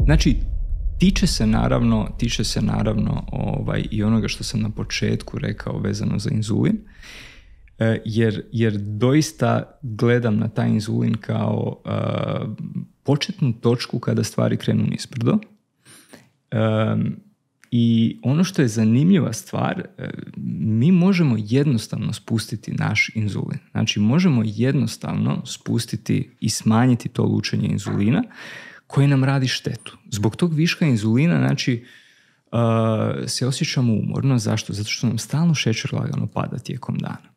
Znači, tiče se naravno i onoga što sam na početku rekao vezano za inzulin, jer doista gledam na taj inzulin kao početnu točku kada stvari krenu nizbrdo. I ono što je zanimljiva stvar, mi možemo jednostavno spustiti naš inzulin. Znači, možemo jednostavno spustiti i smanjiti to lučenje inzulina koje nam radi štetu. Zbog tog viška inzulina, znači, se osjećamo umorno. Zašto? Zato što nam stalno šećer lagano pada tijekom dana.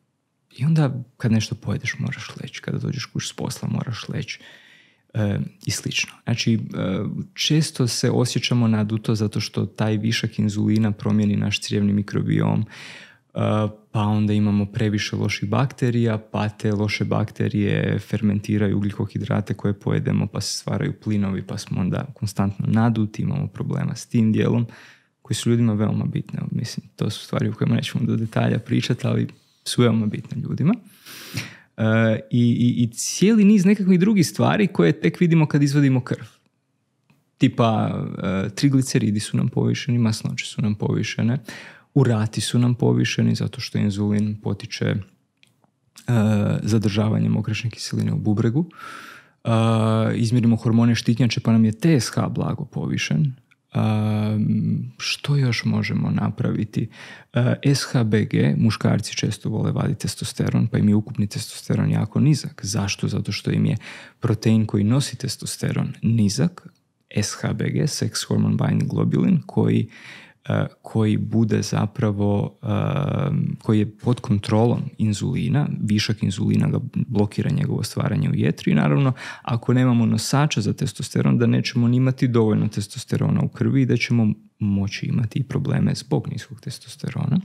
I onda kad nešto pojedeš moraš leći, kada dođeš kući s posla moraš leći i slično. Znači, često se osjećamo naduto zato što taj višak inzulina promijeni naš crijevni mikrobiom, pa onda imamo previše loših bakterija, pa te loše bakterije fermentiraju ugljikohidrate koje pojedemo, pa se stvaraju plinovi, pa smo onda konstantno naduti, imamo problema s tim dijelom koji su ljudima veoma bitne. Mislim, to su stvari u kojima nećemo do detalja pričati, ali su veoma bitne ljudima. I cijeli niz nekakvih drugih stvari koje tek vidimo kad izvadimo krv. Tipa trigliceridi su nam povišeni, masnoće su nam povišene, urati su nam povišeni zato što inzulin potiče zadržavanje mokraćne kiseline u bubregu. Izmjerimo hormone štitnjače pa nam je TSH blago povišen. Što još možemo napraviti? SHBG, muškarci često vole vaditi testosteron, pa im je ukupni testosteron jako nizak. Zašto? Zato što im je protein koji nosi testosteron nizak, SHBG, Sex Hormone Binding Globulin, koji bude zapravo, koji je pod kontrolom inzulina, višak inzulina ga blokira njegovo stvaranje u jetri i naravno ako nemamo nosača za testosteron da nećemo ni imati dovoljno testosterona u krvi i da ćemo moći imati i probleme zbog niskog testosterona.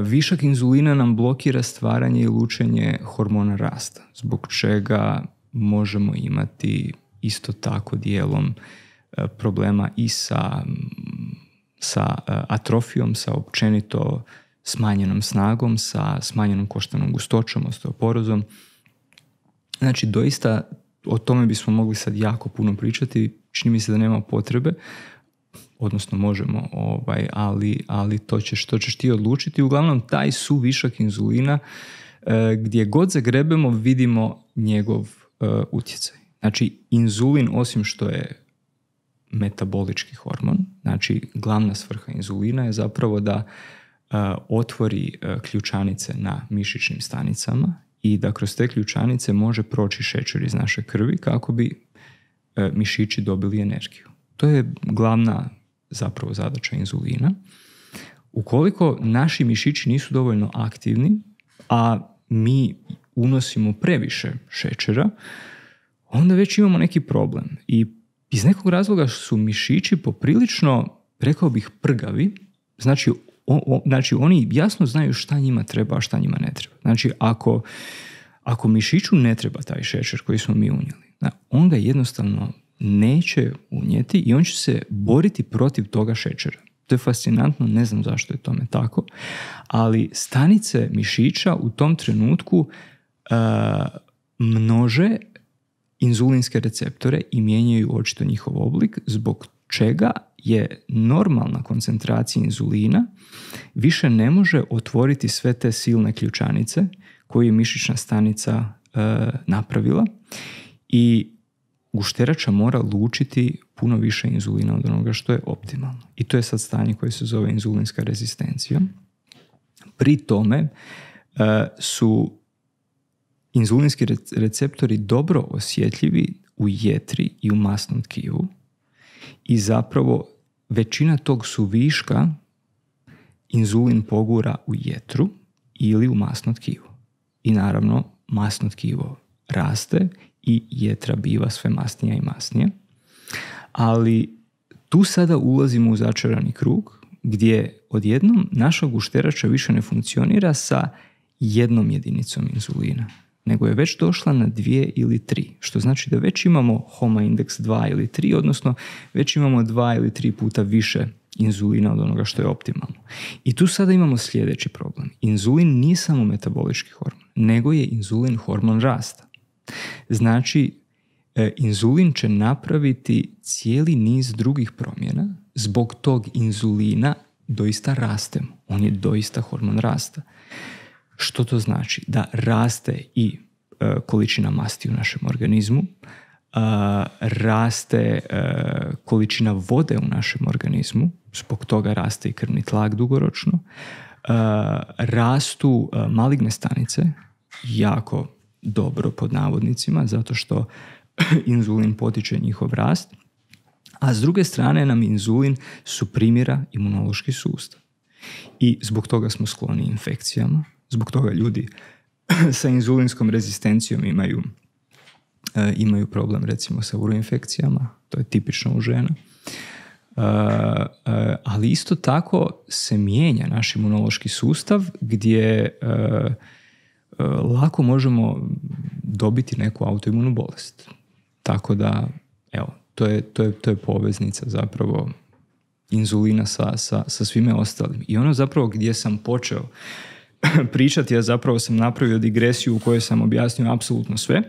Višak inzulina nam blokira stvaranje i lučenje hormona rasta, zbog čega možemo imati isto tako dijelom problema i sa atrofijom, sa općenito smanjenom snagom, sa smanjenom koštanom gustoćom, osteoporozom. Znači, doista o tome bismo mogli sad jako puno pričati. Čini mi se da nema potrebe, odnosno možemo, ali to ćeš ti odlučiti. Uglavnom, taj suvišak inzulina, gdje god zagrebemo, vidimo njegov utjecaj. Znači, inzulin, osim što je metabolički hormon, znači glavna svrha inzulina je zapravo da otvori ključanice na mišićnim stanicama i da kroz te ključanice može proći šećer iz naše krvi kako bi mišići dobili energiju. To je glavna zapravo zadaća inzulina. Ukoliko naši mišići nisu dovoljno aktivni, a mi unosimo previše šećera, onda već imamo neki problem. I iz nekog razloga su mišići poprilično, rekao bih, prgavi. Znači oni jasno znaju šta njima treba, a šta njima ne treba. Znači, ako mišiću ne treba taj šećer koji smo mi unijeli, on ga jednostavno neće unijeti i on će se boriti protiv toga šećera. To je fascinantno, ne znam zašto je tome tako, ali stanice mišića u tom trenutku množe inzulinske receptore i mijenjaju očito njihov oblik, zbog čega je normalna koncentracija inzulina više ne može otvoriti sve te silne ključanice koje je mišićna stanica napravila i gušterača mora lučiti puno više inzulina od onoga što je optimalno. I to je sad stanje koje se zove inzulinska rezistencija. Pri tome su inzulinski receptori dobro osjetljivi u jetri i u masnom tkivu i zapravo većina tog suviška inzulin pogura u jetru ili u masno tkivo. I naravno masno tkivo raste i jetra biva sve masnija i masnija. Ali tu sada ulazimo u začarani krug gdje odjednom naša gušterača više ne funkcionira sa jednom jedinicom inzulina, nego je već došla na 2 ili 3, što znači da već imamo HOMA indeks 2 ili 3, odnosno već imamo 2 ili 3 puta više inzulina od onoga što je optimalno. I tu sada imamo sljedeći problem. Inzulin nije samo metabolički hormon, nego je inzulin hormon rasta. Znači, inzulin će napraviti cijeli niz drugih promjena. Zbog tog inzulina doista rastemo. On je doista hormon rasta. Što to znači? Da raste i količina masti u našem organizmu, raste količina vode u našem organizmu, zbog toga raste i krvni tlak dugoročno, rastu maligne stanice, jako dobro pod navodnicima, zato što inzulin potiče njihov rast, a s druge strane nam inzulin suprimira imunološki sustav. I zbog toga smo skloni infekcijama, zbog toga ljudi sa inzulinskom rezistencijom imaju problem recimo sa uroinfekcijama, to je tipično u žena. Ali isto tako se mijenja naš imunološki sustav gdje lako možemo dobiti neku autoimunu bolest. Tako da, evo, to je poveznica zapravo inzulina sa svime ostalim. I ono zapravo gdje sam počeo pričati, ja zapravo sam napravio digresiju u kojoj sam objasnio apsolutno sve.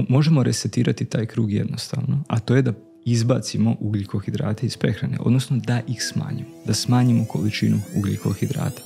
Možemo resetirati taj krug jednostavno, a to je da izbacimo ugljikohidrate iz prehrane, odnosno da ih smanjimo, da smanjimo količinu ugljikohidrata.